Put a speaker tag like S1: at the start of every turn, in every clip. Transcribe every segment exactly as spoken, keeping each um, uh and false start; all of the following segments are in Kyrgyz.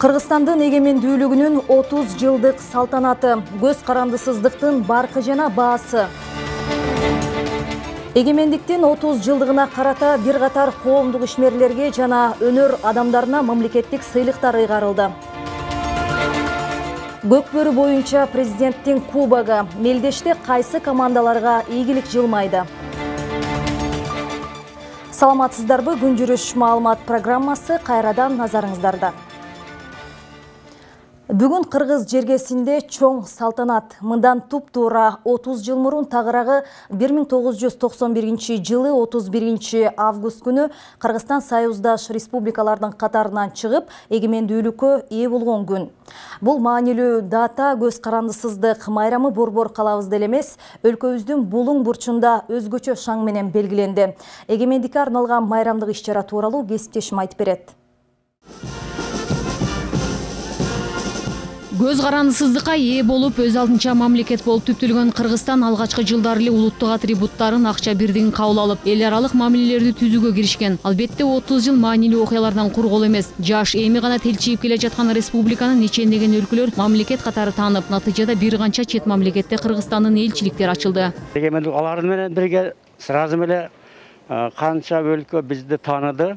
S1: Кыргызстандын эгемендүүлүгүнүн отуз жылдык салтанаты, көз карандысыздыктын баркы жана баасы. Эгемендиктин отуз жылдыгына карата бир катар коомдук ишмерлерге жана өнөр адамдарына мамлекеттик сыйлыктар ыйгарылды. Көкбөрү боюнча президенттин кубогу, мелдеште кайсы командаларга ийгилик жылмайды? Саламатсыздарбы, күн жүрүш маалымат программасы кайрадан назарыңыздарда. Бүгүн Кыргыз жергесинде чоң салтанат. Мындан туп-туура отуз жыл мурун тагыраагы бир миң тогуз жүз токсон биринчи жылы отуз биринчи август күнү Кыргызстан союздаш республикалардын катарынан чыгып, эгемендүүлүккө ээ болгон күн. Бул маанилүү дата көз карандысыздык майрамы борбор калабызда эле эмес, өлкөбүздүн булуң бурчунда өзгөчө шаң менен белгиленди. Эгемендикке арналган майрамдык иш-чара тууралуу кесиптешим айтып берет.
S2: Көз карандысыздыкка ээ болуп, өз алдынча мамлекет болуп түптөлгөн Кыргызстан алгачкы жылдары эле улуттук атрибуттарын акча бирдигин кабыл алып, эл аралык мамилелерди түзүүгө киришкен. Албетте отуз жыл маанилүү окуялардан кур кол эмес. Жаш эми гана телчиип келе жаткан республиканы нечендеген өлкөлөр мамлекет катары таанып, натыйжада бир канча чет мамлекетте Кыргызстандын элчиликтери ачылды.
S3: Эгемендүүлүк алар менен бирге сразу эле канча өлкө бизди тааныды.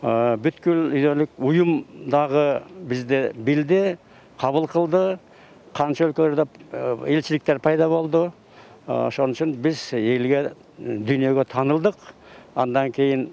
S3: Бүткүл дүйнөлүк уюм дагы бизди билди, кабыл кылды, канча өлкөлөрдө элчиликтер пайда болду. Ошон үчүн биз элге, дүйнөгө таанылдык. Андан кийин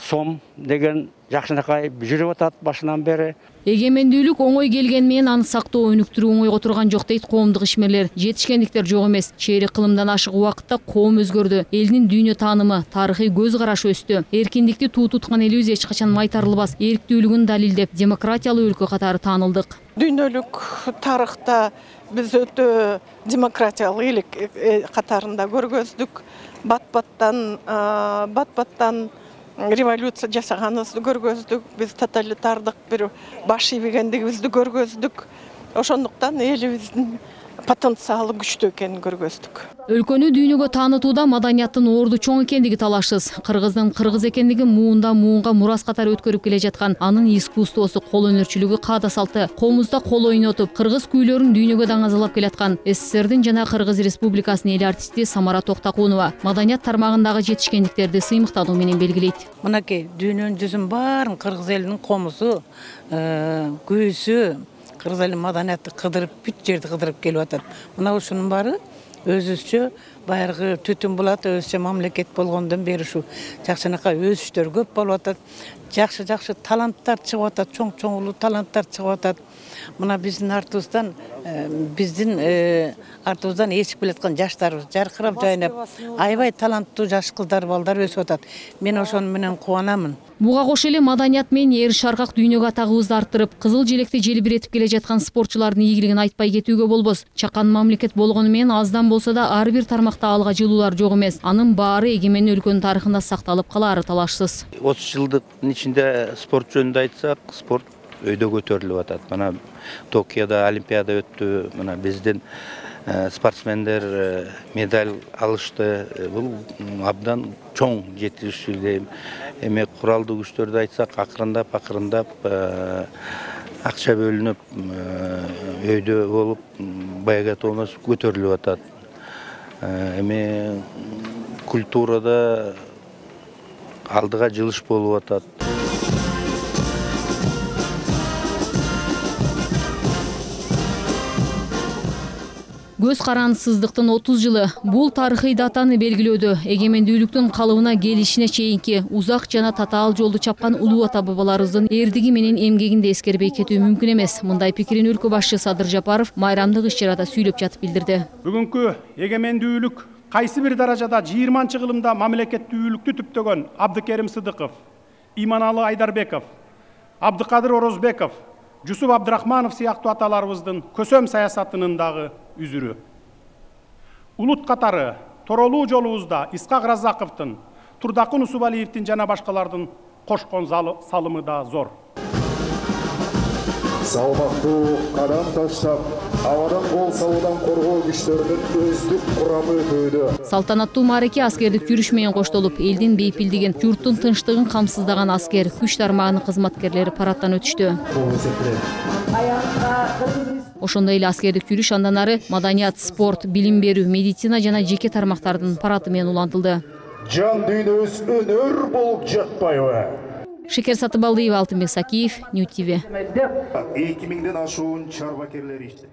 S3: сом деген жакшынакай жүрүп атат башынан бери.
S2: Эгемендүүлүк оңой келген менен аны сактоо, өнүктүрүү оңойго турган жок дейт коомдук ишмерлер. Жетишкендиктер жок эмес. Чейрек кылымдан ашык убакытта коом өзгөрдү. Элдин дүйнө таанымы, тарыхый көз карашы өстү. Эркиндикти туу туткан элибиз эч качан майтарылбас, эрктүүлүгүн далилдеп, демократиялуу өлкө катары таанылдык.
S4: Дүйнөлүк тарыхта биз өтө демократиялык элек катарында көргөздүк. Бат-баттан, бат-баттан революция жасаганыбызды көргөздүк, биз тоталитардык бир баш ийбегендигибизди көргөздүк. Ошондуктан элибиздин потенциалы күчтүү экенин көргөздүк.
S2: Өлкөнү дүйнөгө таанытууда маданияттын орду чоң экендиги талашсыз. Кыргыздын кыргыз экендиги муундан муунга мурас катары өткөрүп келе жаткан, анын искусствосу, кол өнөрчүлүгү, каада салты, коомузда кол ойнотуп, кыргыз күүлөрүн дүйнөгө даңазалап келаткан СССРдин жана Кыргыз Республикасынын эл артисти Самара Токтакунова маданият тармагындагы жетишкендиктерди сыймыктануу менен белгилейт.
S5: Мынакей дүйнөнүн жүзүн баарын кыргыз элинин комузу, күүсү, кыргыз элинин маданияты кыдырып, бүт жерди кыдырып келип атат. Мына ушунун баары өзүбүзчө баягы түтүн булат, өзүчө мамлекет болгондон бери ушу жакшынакай өсүштөр көп болуп атат. Жакшы-жакшы таланттар чыгып атат, чоң-чоң таланттар чыгып атат. Мына биздин артыбыздан, биздин артыбыздан ээчип келаткан жаштарыбыз жаркырап жайнап, аябай таланттуу жаш кыздар, балдар өсүп атат. Мен ошону менен кубанамын.
S2: Буга кошо эле маданият менен эр шаркак дүйнөгө атагыбызды арттырып, кызыл желекти желбиретип келе жаткан спортчулардын ийгилигин айтпай кетүүгө болбос. Чакан мамлекет болгону менен аздан болсо да ар бир тармакта алга жылуулар жок эмес. Анын баары эгемен өлкөнүн тарыхында сакталып калаары талашсыз.
S6: отуз жылдыктын ичинде спорт жөнүндө айтсак, спорт өйдө көтөрүлүп атат. Мына Токиодо олимпиада өттү. Мына биздин спортсмендер медаль алышты. Бул абдан чоң жетишүү дейм. Эми куралдуу күчтөрдү айтсак, акырындап акырындап акча бөлүнүп, өйдө болуп, баягы тонос көтөрүлүп атат. Эми культурада алдыга жылыш болуп атат.
S2: Көз карандысыздыктын отуз жылы бул тарыхый датаны белгилөөдө эгемендүүлүктүн калыбына келишине чейинки узак жана татаал жолду чапкан улуу ата бабаларыбыздын эрдиги менен эмгегинди эскербей кетүү мүмкүн эмес. Мындай пикирин өлкө башчысы Садыр Жапаров майрамдык иш-чарада сүйлөп жатып билдирди.
S7: Бүгүнкү эгемендүүлүк кайсы бир даражада жыйырманчы кылымда мамлекеттүүлүктү түптөгөн Абдыкерим Сыдыков, Иманалы Айдарбеков, Абдыкадыр Орозбеков, Жусуп Абдрахманов сыяктуу аталарыбыздын көсөм саясатынын дагы үзүрү. Улут катары торолуу жолубузда Исхак Разаковдун, Турдакын Усубалиевдин жана башкалардын кошкон салымы да зор.
S8: Салмактуу кадам таштап, абадан кол салуудан коргоо күчтөрүнүн өздүк курамы өтүүдө.
S2: Салтанаттуу маареке аскердик жүрүш менен коштолуп, элдин бейпилдигин, журттун тынчтыгын камсыздаган аскер, күч тармагынын кызматкерлери парадтан өтүштү. Ошондой эле аскердик жүрүш андан ары маданият, спорт, билим берүү, медицина жана жеке тармактардын парады менен улантылды.
S8: Жан дүйнөбүз өнөр болуп жатпайбы?
S2: Шекер Сатыбалдиева, Алтынбек Сакиев, Нью ти ви.
S8: эки миңден ашуун чарбакерлер иштейт.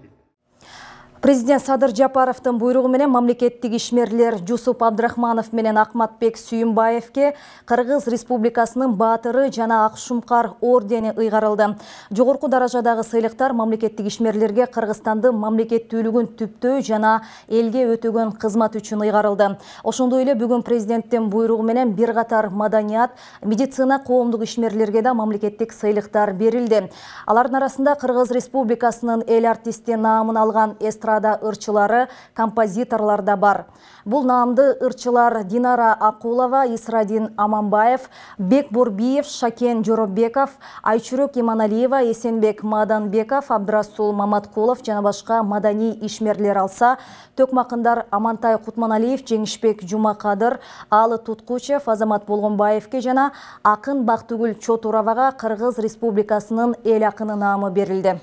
S1: Президент Садыр Жапаровдун буйругу менен мамлекеттик ишмерлер Жусуп Абдрахманов менен Акматбек Сүйүнбаевке Кыргыз Республикасынын баатыры жана Акшумкар ордени ыйгарылды. Жогорку даражадагы сыйлыктар мамлекеттик ишмерлерге Кыргызстандын мамлекеттүүлүгүн түптөө жана элге өтөгөн кызмат үчүн ыйгарылды. Ошондой эле бүгүн президенттин буйругу менен бир катар маданият, медицина коомдук ишмерлерге да мамлекеттик сыйлыктар берилди. Алардын арасында Кыргыз Республикасынын эл артисти наамын алган эстрада ырчылары, композиторлар да бар. Бул наамды ырчылар Динара Акулова, Исрадин Аманбаев, Бек Борбиев, Шакен Жоробеков, Айчурок Иманалиева, Эсенбек Маданбеков, Абдрасул Маматкулов жана башка маданий ишмерлер алса, төкмакындар Амантай Кутманалиев, Жеңишбек Жумакадыр, Алы Туткучев, Азамат Болгонбаевке жана Акын Бактыгүл Чотуровага Кыргыз Республикасынын эл акыны наамы берилди.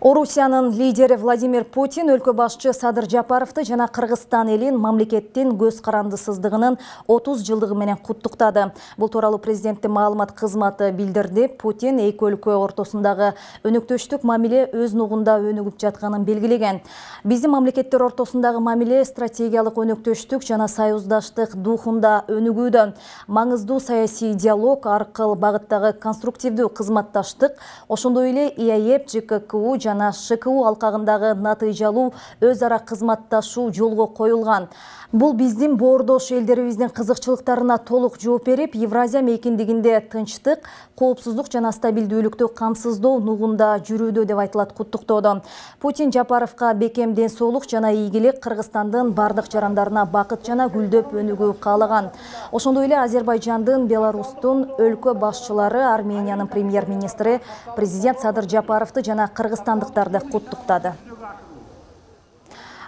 S1: Орусиянын лидери Владимир Путин өлкө башчы Садыр Жапаровду жана Кыргызстан элин мамлекеттин көз карандысыздыгынын отуз жылдыгы менен куттуктады. Бул тууралуу президенттин маалымат кызматы билдирди. Путин эки өлкө ортосундагы өнөктөштүк мамиле өз нугунда өнүгүп жатканын белгилеген. Биздин мамлекеттер ортосундагы мамиле стратегиялык өнөктөштүк жана союздаштык духунда өнүгүүдө. Маңыздуу саясий диалог, аркыл багыттагы конструктивдүү кызматташтык, ошондой эле И А Е Б, Ж К К У жана Ш К У алкагындагы натыйжалуу өз ара кызматташуу жолго коюлган. Бул биздин боордош элдерибиздин кызыкчылыктарына толук жооп берип, Евразия мейкиндигинде тынчтык, коопсуздук жана стабилдүүлүктү камсыздоо нугунда жүрүүдө деп айтылат куттуктоодо. Путин Жапаровго бекем ден соолук жана ийгилик, Кыргызстандын бардык жарандарына бакыт жана гүлдөп өнүгүү каалаган. Ошондой эле Азербайжандын, Беларустун өлкө башчылары, Армениянын премьер-министри президент Садыр Жапаровду жана кыргызстандыктарды куттуктады.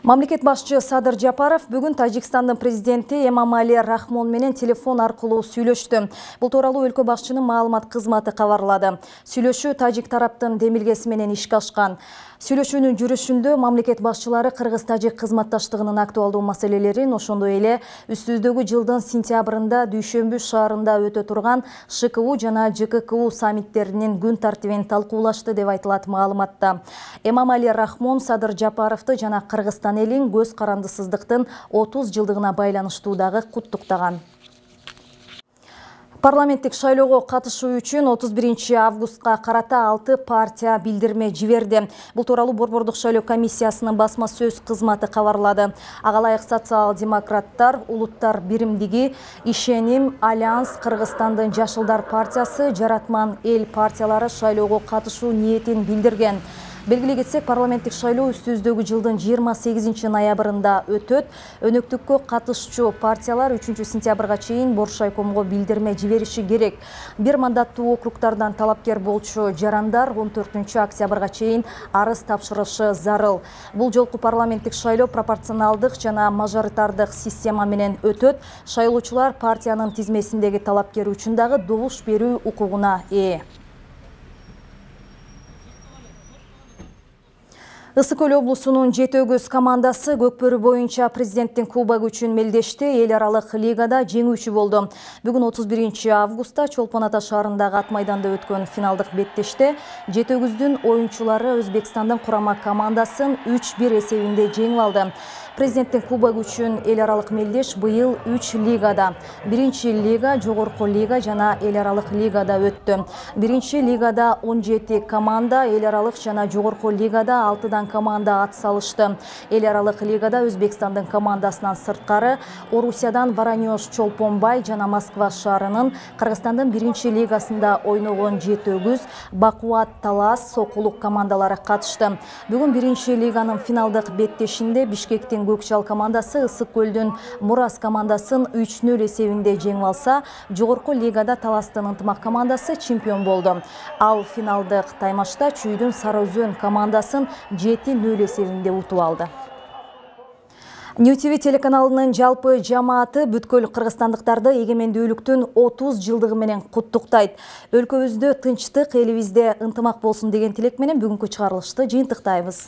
S1: Мамлекет башчы Садыр Жапаров бүгүн Тажикстандын президенти Эмомали Рахмон менен телефон аркылуу сүйлөштү. Бул тууралуу өлкө башчынын маалымат кызматы кабарлады. Сүйлөшүү тажик тараптын демилгеси менен ишке ашкан. Сүйлөшүүнүн жүрүшүндө мамлекет башчылары кыргыз-тажик кызматташтыгынын актуалдуу маселелерин, ошондой эле үстүбүздөгү жылдын сентябрында Дүйшөмбү шаарында өтө турган Ш К У жана Ж К К У саммиттеринин күн тартибин талкуулашты деп айтылат маалыматта. Эмомали Рахмон Садыр Жапаровду жана Кыргызстан элин көз карандысыздыктын отуз жылдыгына байланыштуу дагы куттуктаган. Парламенттик шайлоого катышуу үчүн отуз биринчи августка карата алты партия билдирме жиберди. Бул тууралуу Борбордук шайлоо комиссиясынын басма сөз кызматы кабарлады. Ага ылайык социал-демократтар, Улуттар биримдиги, Ишеним, Альянс, Кыргызстандын Жашылдар партиясы, Жаратман эл партиялары шайлоого катышуу ниетин билдирген. Белгилей кетсек, парламенттик шайлоо үстүбүздөгү жылдын жыйырма сегизинчи ноябрында өтөт. Өнөктүккө катышчу партиялар үчүнчү сентябрга чейин Боршайкомго билдирме жибериши керек. Бир мандаттуу округдардан талапкер болчу жарандар он төртүнчү октябрга чейин арыз тапшырышы зарыл. Бул жолку парламенттик шайлоо пропорционалдык жана мажоритардык система менен өтөт. Шайлоочулар партиянын тизмесиндеги талапкер үчүн дагы добуш берүү укугуна ээ. Ысык Көл облусунун Жети Өгүз командасы Көкбөрү боюнча президенттин кубогу үчүн мелдешти. Эл аралык лигада жеңүүчү болду. Бүгүн отуз биринчи августта Чолпон Ата шаарындагы ат майданда өткөн финалдык беттеште Жети Өгүздүн оюнчулары Өзбекстандын курама командасын үч бир эсебинде жеңип алды. Президенттин кубогу үчүн эл аралык мелдеш быйыл үч лигада. Биринчи лига, жогорку лига жана эл аралык лигада өттү. Биринчи лигада он жети команда, эл аралык жана жогорку лигада алтыдан команда ат салышты. Эл аралык лигада Өзбекстандын командасынан сырткары Орусиядан Воронеж Чолпонбай жана Москва шаарынын, Кыргызстандын биринчи лигасында ойногон Жети Өгүз, Бакуат Талас, Сокулук командалары катышты. Бүгүн биринчи лиганын финалдык беттешинде Бишкектин менен Көкчал командасы Ысык көлдүн Мурас командасын үч нөл эсебинде жеңип алса, жогорку лигада Таластын Ынтымак командасы чемпион болду. Ал финалдык таймашта Чүйдүн Сарыөзөн командасын жети нөл эсебинде утуп алды. Нью ти ви телеканалынын жалпы жамааты бүткүл кыргызстандыктарды эгемендүүлүктүн отуз жылдыгы менен куттуктайт. Өлкөбүздө тынчтык, элибизде ынтымак болсун деген тилек менен бүгүнкү чыгарылышты жыйынтыктайбыз.